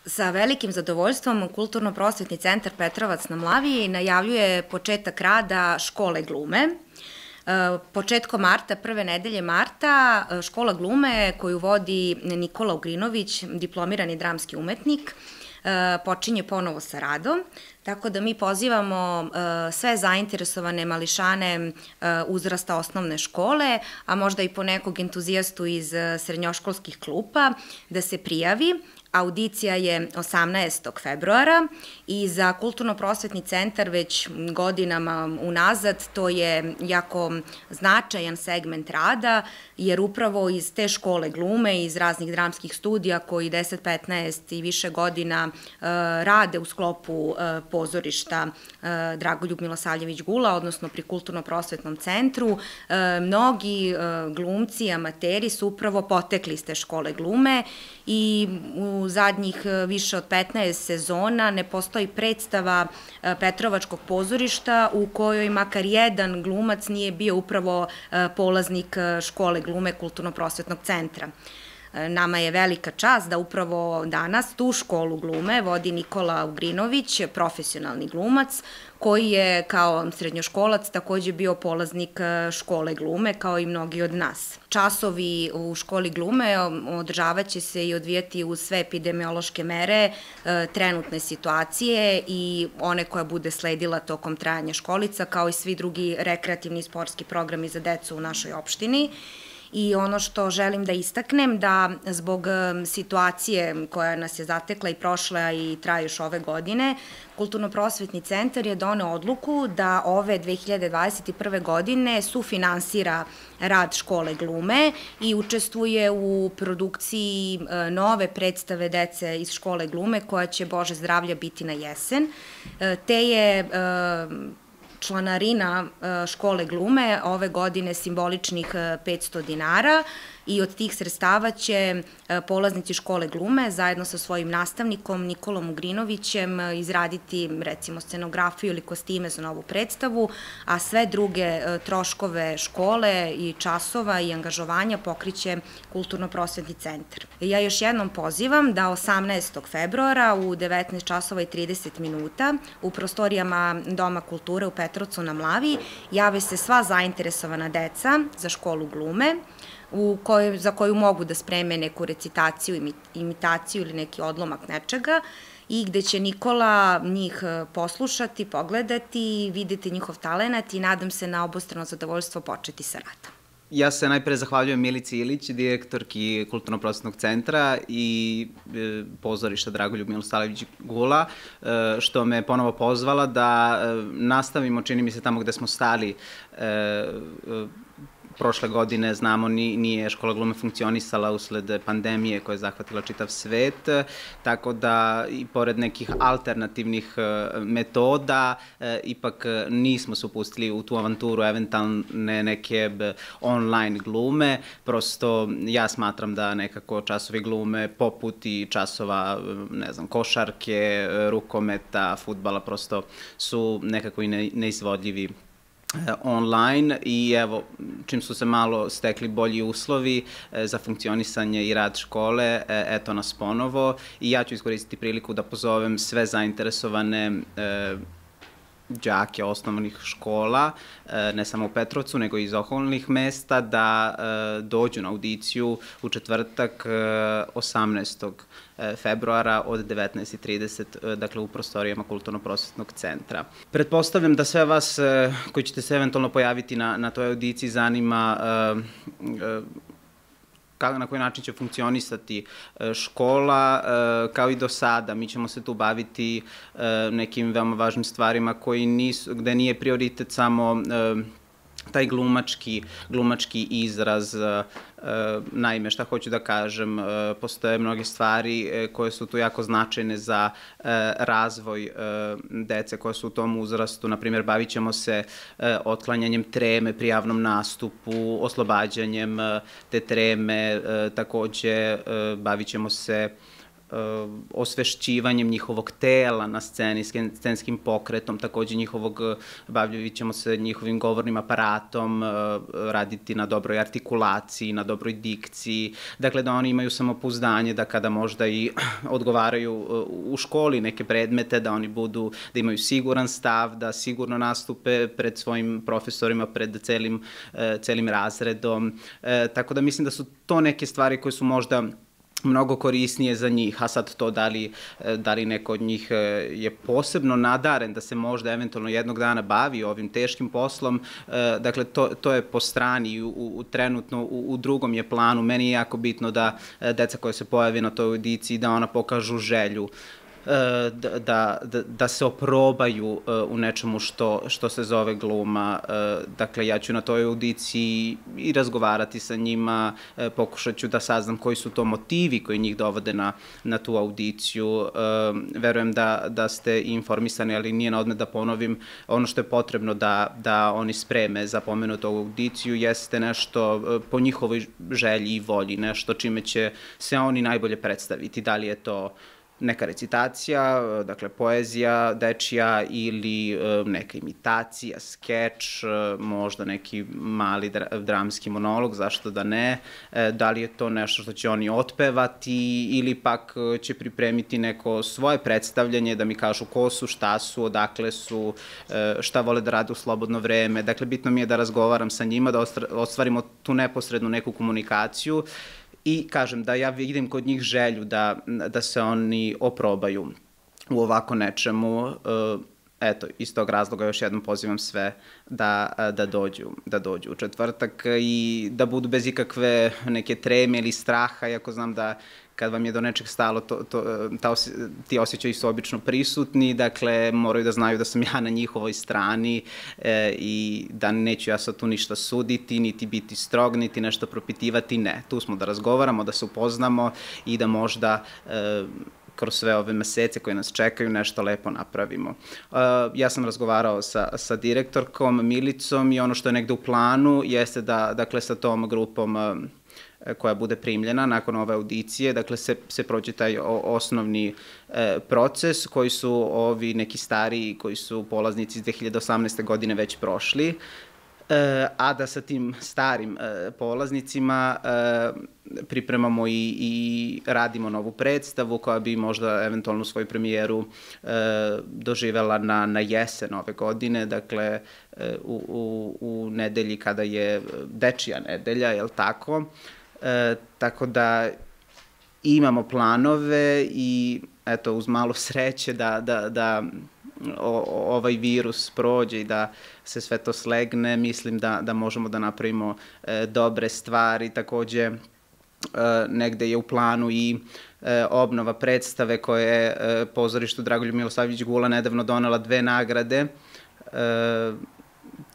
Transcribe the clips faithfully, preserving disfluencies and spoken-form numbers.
Sa velikim zadovoljstvom Kulturno-prosvetni centar Petrovac na Mlavi najavljuje početak rada škole glume. Početkom marta, prve nedelje marta, škola glume koju vodi Nikola Ugrinović, diplomirani dramski umetnik, počinje ponovo sa radom, tako da mi pozivamo sve zainteresovane mališane uzrasta osnovne škole, a možda i po nekog entuzijastu iz srednjoškolskih klupa, da se prijavi. Audicija je osamnaestog februara i za Kulturno-prosvetni centar već godinama unazad to je jako značajan segment rada, jer upravo iz te škole glume, iz raznih dramskih studija koji deset, petnaest i više godina rade u sklopu pozorišta Dragoljub Milosavljević Gula, odnosno pri Kulturno-prosvetnom centru, mnogi glumci, amateri su upravo potekli iz te škole glume i u zadnjih više od petnaest sezona ne postoji predstava Petrovačkog pozorišta u kojoj makar jedan glumac nije bio upravo polaznik škole glume Kulturno-prosvetnog centra. Nama je velika čast da upravo danas tu školu glume vodi Nikola Ugrinović, profesionalni glumac, koji je kao srednjoškolac takođe bio polaznik škole glume, kao i mnogi od nas. Časovi u školi glume održavaće se i odvijati uz sve epidemiološke mere, trenutne situacije i one koja bude sledila tokom trajanja školica, kao i svi drugi rekreativni i sportski programi za decu u našoj opštini. I ono što želim da istaknem, da zbog situacije koja nas je zatekla i prošla i traje još ove godine, Kulturno-prosvetni centar je doneo odluku da ove dve hiljade dvadeset prve. godine sufinansira rad škole glume i učestvuje u produkciji nove predstave dece iz škole glume koja će, Bože zdravlja, biti na jesen. Te je članarina škole glume ove godine simboličnih petsto dinara i od tih sredstava će polaznici škole glume zajedno sa svojim nastavnikom Nikolom Ugrinovićem izraditi recimo scenografiju ili kostime za novu predstavu, a sve druge troškove škole i časova i angažovanja pokriće Kulturno-prosvetni centar. Ja još jednom pozivam da osamnaestog februara u devetnaest časova i trideset minuta u prostorijama Doma kulture u Petrovcu na Mlavi jave se sva zainteresovana deca za školu glume, za koju mogu da spreme neku recitaciju, imitaciju ili neki odlomak nečega i gde će Nikola njih poslušati, pogledati, videti njihov talenat i nadam se na obostrano zadovoljstvo početi sa radom. Ja se najpre zahvaljujem Milici Ilić, direktorki Kulturno-prosvetnog centra i pozorišta Dragoljub Milosavljević Gula, što me ponovo pozvala da nastavimo, čini mi se, tamo gde smo stali. Prošle godine, znamo, nije škola glume funkcionisala usled pandemije koja je zahvatila čitav svet, tako da i pored nekih alternativnih metoda ipak nismo se upustili u tu avanturu eventualne neke online glume. Prosto ja smatram da nekako časovi glume poput i časova, ne znam, košarke, rukometa, fudbala prosto su nekako i neizvodljivi online i evo, čim su se malo stekli bolji uslovi za funkcionisanje i rad škole, eto nas ponovo i ja ću iskoristiti priliku da pozovem sve zainteresovane đake osnovnih škola, ne samo u Petrovcu, nego i iz okolnih mesta, da dođu na audiciju u četvrtak osamnaestog februara od devetnaest i trideset, dakle u prostorijama Kulturno-prosvetnog centra. Pretpostavljam da sve vas koji ćete se eventualno pojaviti na toj audiciji zanima na koji način će funkcionisati škola, kao i do sada. Mi ćemo se tu baviti nekim veoma važnim stvarima gde nije prioritet samo taj glumački izraz. Naime, šta hoću da kažem, postoje mnoge stvari koje su tu jako značajne za razvoj dece koje su u tom uzrastu. Naprimjer, bavit ćemo se otklanjanjem treme pri javnom nastupu, oslobađanjem te treme, takođe bavit ćemo se osvešćivanjem njihovog tela na sceni, scenskim pokretom, takođe njihovog, bavljavit ćemo se njihovim govornim aparatom, raditi na dobroj artikulaciji, na dobroj dikciji, dakle da oni imaju samopouzdanje da kada možda i odgovaraju u školi neke predmete, da oni budu, da imaju siguran stav, da sigurno nastupe pred svojim profesorima, pred celim, celim razredom, tako da mislim da su to neke stvari koje su možda mnogo korisnije za njih, a sad to da li, da li neko od njih je posebno nadaren da se možda eventualno jednog dana bavi ovim teškim poslom, dakle to, to je po strani, u, u, trenutno u, u drugom je planu. Meni je jako bitno da deca koja se pojave na toj audiciji, da ona pokažu želju, Da, da, da se oprobaju u nečemu što, što se zove gluma. Dakle, ja ću na toj audiciji i razgovarati sa njima, pokušat ću da saznam koji su to motivi koji njih dovode na, na tu audiciju. Verujem da, da ste informisani, ali nije na odmet da ponovim, ono što je potrebno da, da oni spreme za pomenutu audiciju jeste nešto po njihovoj želji i volji, nešto čime će se oni najbolje predstaviti. Da li je to neka recitacija, dakle poezija dečija ili neka imitacija, skeč, možda neki mali dramski monolog, zašto da ne, da li je to nešto što će oni otpevati ili pak će pripremiti neko svoje predstavljanje, da mi kažu ko su, šta su, odakle su, šta vole da rade u slobodno vreme. Dakle, bitno mi je da razgovaram sa njima, da ostvarimo tu neposrednu neku komunikaciju. I kažem da ja vidim kod njih želju da, da se oni oprobaju u ovako nečemu. Eto, iz tog razloga još jednom pozivam sve da, da, dođu, da dođu u četvrtak i da budu bez ikakve neke treme ili straha, iako znam da kad vam je do nečeg stalo, to, to, ta osje, ti osjećaji su obično prisutni, dakle moraju da znaju da sam ja na njihovoj strani e, i da neću ja sad tu ništa suditi, niti biti strog, niti nešto propitivati, ne. Tu smo da razgovaramo, da se upoznamo i da možda e, kroz sve ove mesece koje nas čekaju nešto lepo napravimo. Uh, ja sam razgovarao sa, sa direktorkom Milicom i ono što je negde u planu jeste da, dakle, sa tom grupom uh, koja bude primljena nakon ove audicije, dakle se, se prođe taj o, osnovni e, proces koji su ovi neki stariji, koji su polaznici iz dve hiljade osamnaeste. godine već prošli, e, a da sa tim starim e, polaznicima e, pripremamo i, i radimo novu predstavu koja bi možda eventualno svoju premijeru e, doživela na, na jesen ove godine, dakle e, u, u, u nedelji kada je dečija nedelja, je li tako? E, tako da imamo planove i eto, uz malo sreće da, da, da o, ovaj virus prođe i da se sve to slegne, mislim da, da možemo da napravimo e, dobre stvari. Takođe, e, negde je u planu i e, obnova predstave koje je e, pozorištu Dragoljub Milosavljević Gula nedavno donela dve nagrade. E,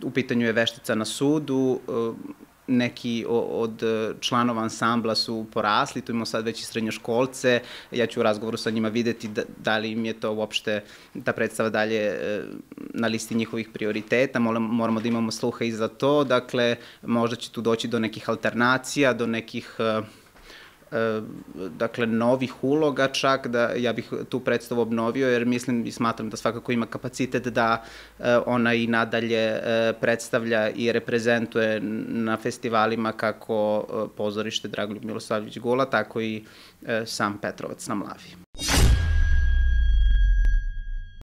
u pitanju je Veštica na sudu, e, neki od članova ansambla su porasli, tu imamo sad već i srednjoškolce, ja ću u razgovoru sa njima videti da, da li im je to uopšte, ta predstava dalje na listi njihovih prioriteta, moramo da imamo sluha i za to, dakle možda će tu doći do nekih alternacija, do nekih dakle novih uloga čak, da ja bih tu predstavu obnovio jer mislim i smatram da svakako ima kapacitet da ona i nadalje predstavlja i reprezentuje na festivalima kako pozorište Dragoljub Milosavljević Gula, tako i sam Petrovac na Mlavi.